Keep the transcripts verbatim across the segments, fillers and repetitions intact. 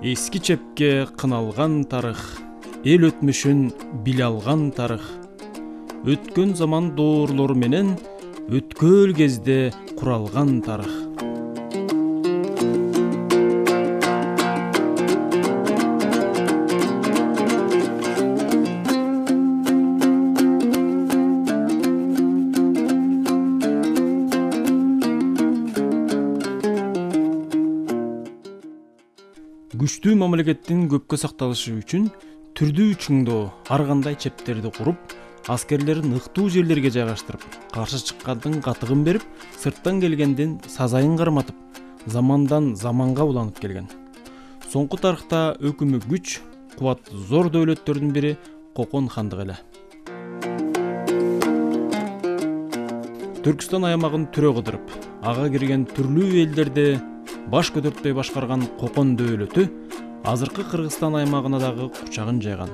Эски чепке кыналган тарых, эл өтмүшүн биле алган тарых. Өткөн заман доорлору менен өткөөл кезде куралган тарых. Күчтүү мамлекеттин көпкө сакталышы үчүн түрдүү чыңдоо, ар кандай чептерди куруп, аскерлерин ыктуу жерлерге жайгаштырып, каршы чыккандын катыгын берип, сырттан келгендин сазайын карматып, замандан заманга уланып келген. Соңку тарыхта өкүмү күч, кубаты зор дөөлөттөрдүн бири Кокон хандыгы эле. Түркстан аймагын түрө кыдырып, ага кирген түрлүү элдерди баш көтөртпөй башкарган Кокон дөөлөтү азыркы Кыргызстан аймагына дагы кучагын жайган.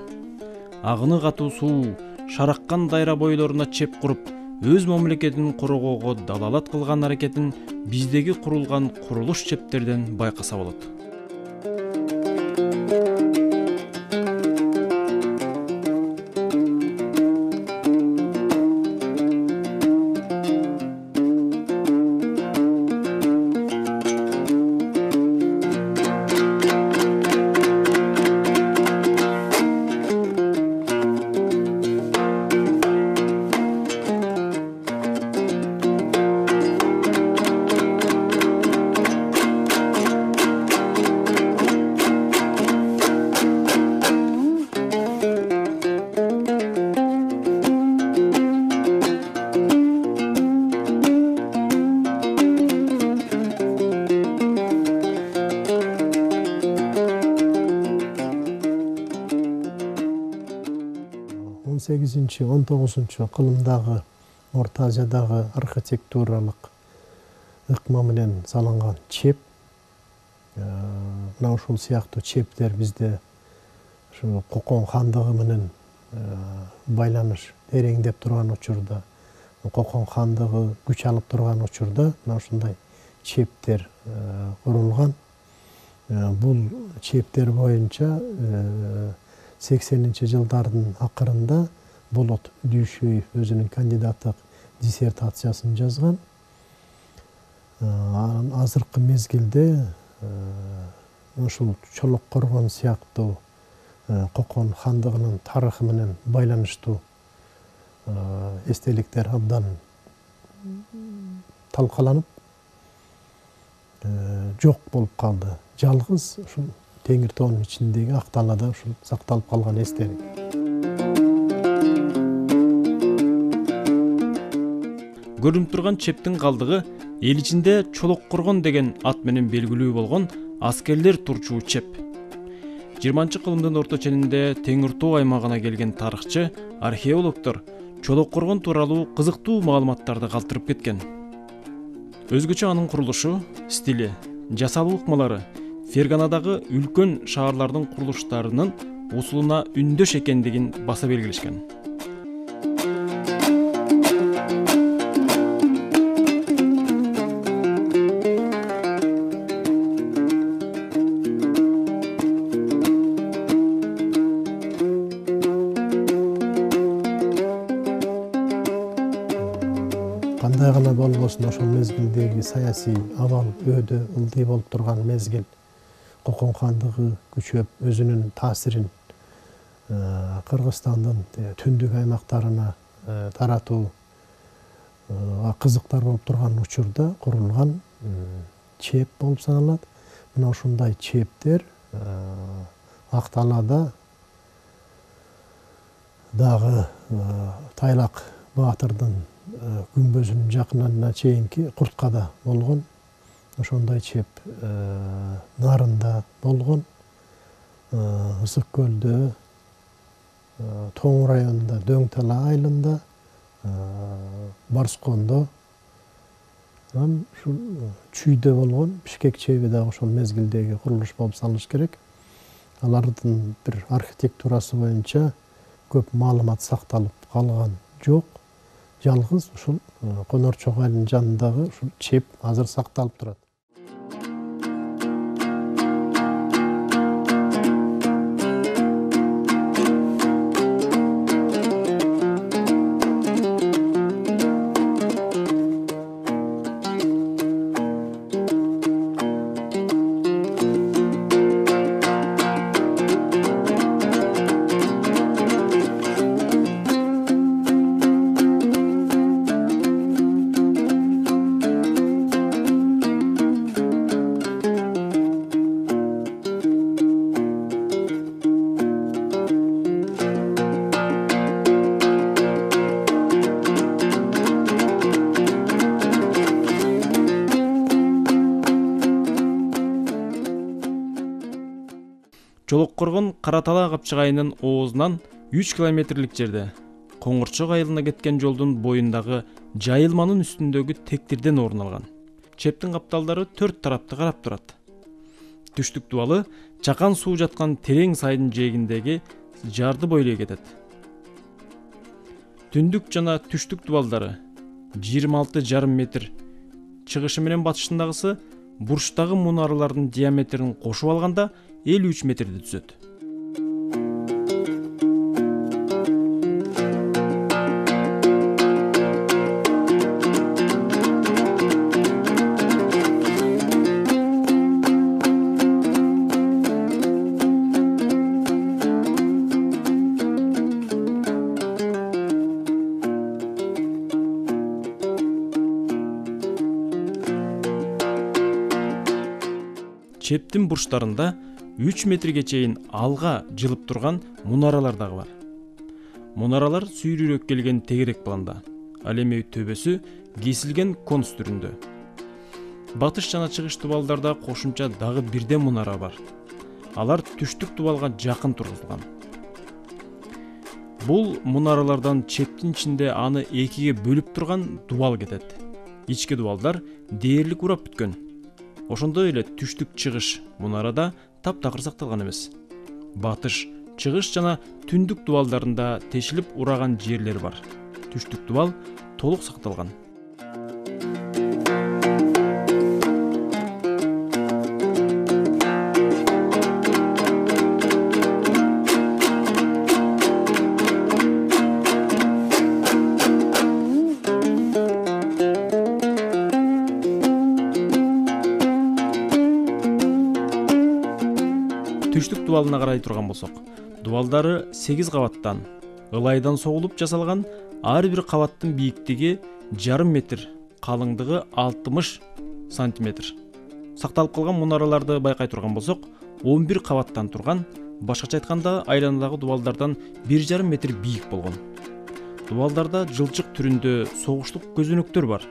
Агыны катуу суу, шараккан дайра бойлоруна чеп куруп, өз мамлекетин коргоого далалат кылган аракетин биздеги курулган курулуш чептерден байкаса болот. он сегизинчи он тогузунчу кылымдагы Орто Азиядагы архитектуралык ыкма менен салынган чеп, мына ушул сыяктуу чептер бизде ушу Кокон хандыгы менен байланыш тереңдеп турган учурда, Кокон хандыгы күч алып турган учурда мына ушундай чептер курулган. Бул чептер боюнча сексенинчи жылдардын акырында Болот Дүйшөев өзүнүн кандидаттык диссертациясын жазган. Азыркы мезгилде ушул Чолок Коргон сыяктуу Кокон хандыгынын тарыхы менен байланыштуу эстеликтер абдан талкаланып жок болуп калды. Жалгыз ушул Теңир тоонун ичиндеги Ак далада ушул сакталып калган эстелик. Көрүнүп турган чептин калдыгы эл ичинде Чолок Коргон деген ат менен белгилүү болгон аскерлер турчу чеп. жыйырманчы кылымдын орто ченинде Теңир тоо аймагына келген тарыхчы, археологдор Чолок Коргон тууралуу кызыктуу маалыматтарды калтырып кеткен. Өзгөчө анын курулушу, стили, жасалуу ыкмалары Ферганадагы үлкөн шаарлардын курулуштарынын усулуна үндөш экендигин баса белгилешкен. Кандай гана болбосун ошол мезгилдеги саясий абал өйдө ылдый болуп турган мезгил. Кокон хандыгы күчөп өзүнүн таасирин Кыргызстандын түндүк аймактарына таратуу кызыктар болуп турган учурда курулган чеп болуп саналат. Мына ушундай чептер Ак далада дагы Тайлак баатырдын күмбөзүнүн жакынына чейинки Курткада болгон. Ошондой чеп Нарында болгон, Ысык көлдө, Тоң районунда, Дөң Тала айылында, Барскондо, ушул Чүйдө болгон. Бишкек чеби дагы ошол мезгилдеги курулуш болуп саналыш керек. Алардын бир архитектурасы боюнча көп маалымат сакталып калган жок. Жалгыз ушул Конор Чок айылынын жанындагы ушул чеп азыр сакталып турат. Чолоккоргон Кара Талаа капчыгайынын оозунан үч километрлик жерде Коңгурчок айылына кеткен жолдун боюндагы жайылманын үстүндөгү тектирден орун алган. Чептин капталдары төрт тарапты карап турат. Түштүк дубалы чакан суу жаткан терең сайдын жээгиндеги жарды бойлой кетет. Түндүк жана түштүк дубалдары жыйырма алты жарым метр, чыгышы менен батышындагысы бурчтагы мунаралардын диаметрин кошуп алганда элүү үч метрди түзөт. Чептин бурчтарында үч метрге чейин алга жылып турган мунаралар дагы бар. Мунаралар сүйрүрөөк келген тегерек планда, ал эми төбөсү кесилген конус түрүндө. Батыш жана чыгыш дубалдарда кошумча дагы бирден мунара бар. Алар түштүк дубалга жакын тургузулган. Бул мунаралардан чептин ичинде аны экиге бөлүп турган дубал кетет. Ички дубалдар дээрлик урап бүткөн. Ошондой эле түштүк чыгыш мунарада таптакыр сакталган эмес. Батыш, чыгыш жана түндүк дубалдарында тешилип ураган жерлер бар. Түштүк дубал толук сакталган. Түштүк дубалына карай турган болсок, дубалдары сегиз кабаттан, ылайдан согулуп жасалган, ар бир кабаттын бийиктиги жарым метр, калыңдыгы алтымыш сантиметр. Сакталып калган мунараларды байкай турган болсок, он бир кабаттан турган, башкача айтканда айланадагы дубалдардан бир жарым метр бийик болгон. Дубалдарда жылчык түрүндө согуштук көзөнөктөр бар.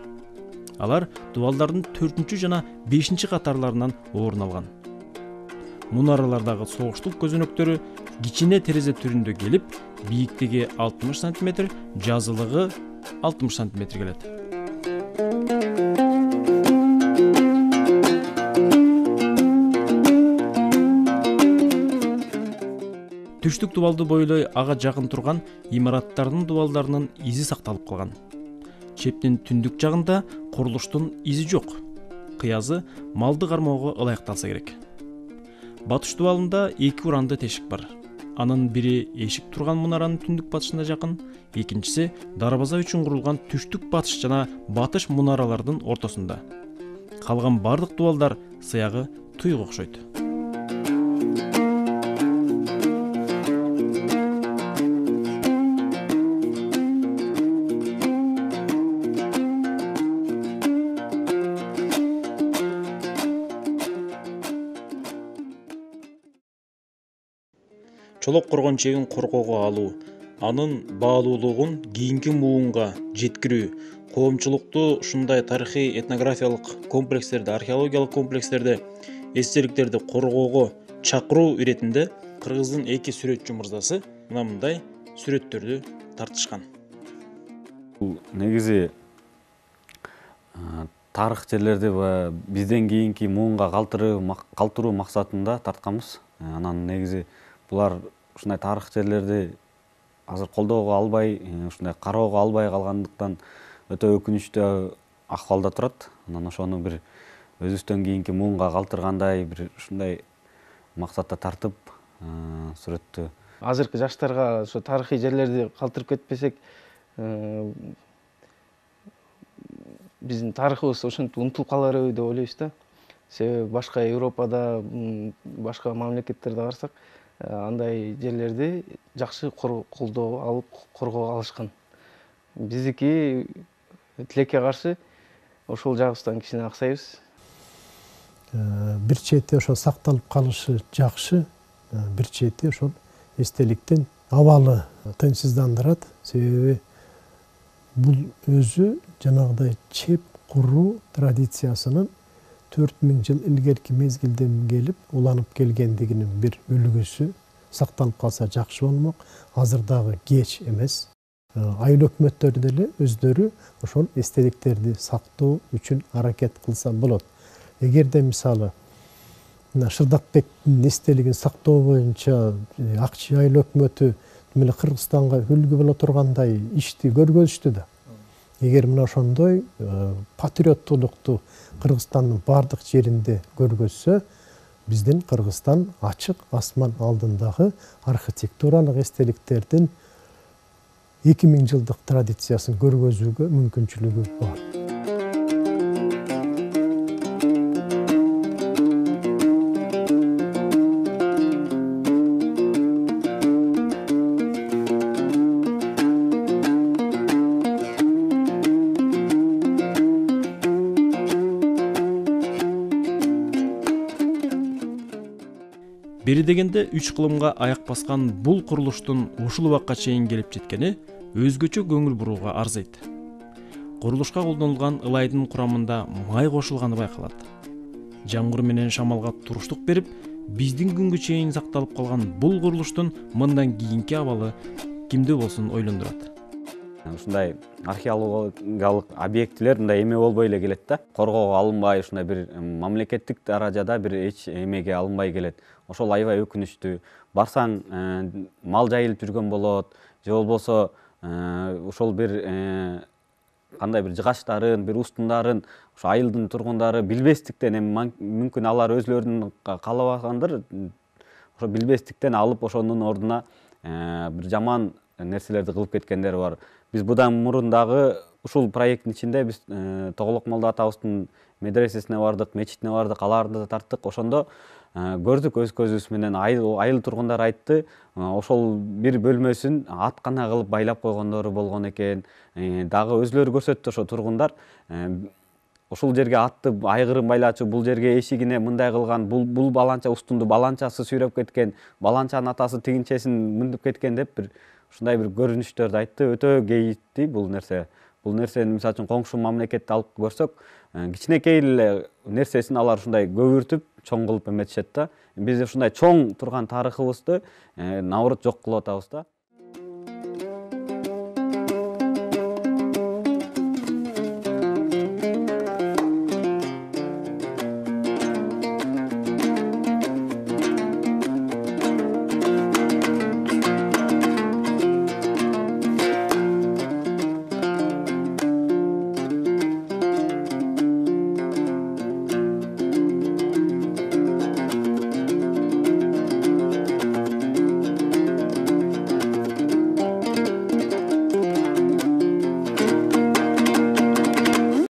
Алар дубалдардын төртүнчү жана бешинчи катарларынан орун алган. Мунаралардагы согуштук көзөнөктөрү кичине терезе түрүндө келип, бийиктиги алтымыш сантиметр, жазылыгы алтымыш сантиметр келет. Түштүк дубалды бойлой ага жакын турган имараттардын дубалдарынын изи сакталып калган. Чептин түндүк жагында курулуштун изи жок. Кыязы малды кармоого ылайыкталса керек. Батыш дубалында эки уранды тешик бар. Анын бири эшик турган мунаранын түндүк батышына жакын, экинчиси дарбаза үчүн курулган түштүк батыш жана батыш мунаралардын ортосунда. Калган бардык дубалдар сыягы туйга окшойт. Чолоккоргон чегин коргоого алуу, анын баалуулугун кийинки муунга жеткирүү, коомчулукту ушундай тарыхый этнографиялык комплекстерди, археологиялык комплекстерди, эстеликтерди коргоого чакыруу иретинде кыргыздын эки сүрөтчү мырзасы мына мындай сүрөттөрдү тартышкан. Бул негизи тарых жерлерди бизден кийинки муунга калтыруу максатында тартканбыз. Анан негизи булар ушундай тарых жерлерди азыр колдоого албай, ушундай кароого албай калгандыктан өтө өкүнүчтүү акыбалда турат. Анан ошону бир өзүбүздөн кийинки муунга калтыргандай бир ушундай максатта тартып сүрөттү. Азыркы жаштарга ошо тарыхый жерлерди калтырып кетпесек, биздин тарыхыбыз ошентип унутулуп каларбы деп ойлойбуз да. Себеби башка Европада, башка мамлекеттерде карасак, андай жерлерди жакшы колдоо алып коргоо алышкан. Биздики тилекке каршы ошол жагыбыздан кичине аксайбыз. Бир чети ошо сакталып калышы жакшы, бир чети ошол эстеликтин абалы тынчсыздандырат. Себеби бул өзү жанагыдай чеп куруу традициясынын төрт миң жыл илгерки мезгилден келип уланып келгендигинин бир үлгүсү сакталып калса жакшы болмок. Азыр дагы кеч эмес. Айыл өкмөттөрү деле өздөрү ошол эстеликтерди сактоо үчүн аракет кылса болот. Эгерде мисалы Шырдакбектин эстелигин сактоо боюнча Ак Чүй айыл өкмөтү мына Кыргызстанга үлгү боло тургандай ишти көргөзүштү да. Эгер мына ошондой патриоттуулукту Кыргызстандын бардык жеринде көргөзсө, биздин Кыргызстан ачык асман алдындагы архитектуралык эстеликтердин эки миң жылдык традициясын көргөзүүгө мүмкүнчүлүгү бар. Бери дегенде үч кылымга аяк баскан бул курулуштун ушул убакка чейин келип жеткени өзгөчө көңүл бурууга арзыйт. Курулушка колдонулган ылайдын курамында май кошулганы байкалат. Жамгыр менен шамалга туруштук берип, биздин күнгө чейин сакталып калган бул курулуштун мындан кийинки абалы кимди болсун ойлондурат. Ушундай археологиялык объектилер мындай эме болбой эле келет да. Коргоого алынбай, ушундай бир мамлекеттик даражада бир эч эмеге алынбай келет. Ошол аябай өкүнүчтүү. Барсаң, мал жайылып жүргөн болот, же болбосо ошол бир кандай бир жыгачтарын, бир устундарын ошо айылдын тургундары билбестиктен, эми мүмкүн алар өзлөрүнүн каалабагандыр, ошо билбестиктен алып ошонун ордуна бир жаман нерселерди кылып кеткендер бар. Биз будан мурун дагы ушул проекттин ичинде биз Тоголок Молдо атабыздын медресесине бардык, мечитине бардык, аларды да тарттык. Ошондо көрдүк өз көзүбүз менен, айыл тургундар айтты, ошол бир бөлмөсүн аткана кылып байлап койгондору болгон экен. Дагы өзлөрү көрсөттү ошо тургундар. Ушул жерге атты айгырын байлачу, бул жерге эшигине мындай кылган, бул бул баланча устунду баланчасы сүйрөп кеткен, баланчанын атасы тигинчесин мындып кеткен деп бир ушундай бир көрүнүштөрдү айтты. Өтө кейитти бул нерсе. Бул нерсени мисалы үчүн коңшу мамлекетти алып көрсөк, кичинекей эле нерсесин алар ушундай көбүртүп, чоң кылып эметишет да. Биз ушундай чоң турган тарыхыбызды наоборот жок кылып атабыз да.